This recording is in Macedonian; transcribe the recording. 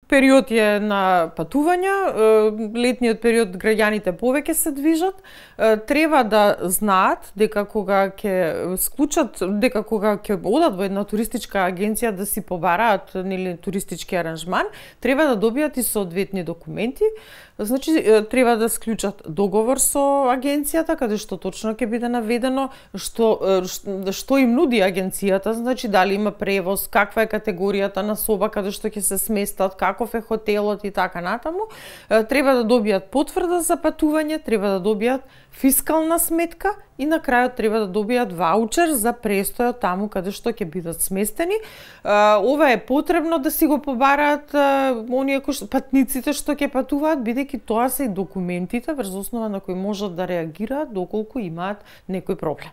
период е на патување, летниот период граѓаните повеќе се движат, треба да знаат дека кога ќе склучат, дека кога ќе одат во една туристичка агенција да си побараат нели туристички аранжман, треба да добијат и соодветни документи. Значи треба да склучат договор со агенцијата каде што точно ќе биде наведено што им нуди агенцијата, значи дали има превоз, каква е категоријата на соба каде што ќе се сместат, каков е хотелот и така натаму. Треба да добијат потврда за патување, треба да добијат фискална сметка и на крајот треба да добијат ваучер за престојот таму каде што ќе бидат сместени. Ова е потребно да си го побараат оние патниците што ќе патуваат, бидејќи тоа се и документите врз основа на кои можат да реагираат доколку имаат некој проблем.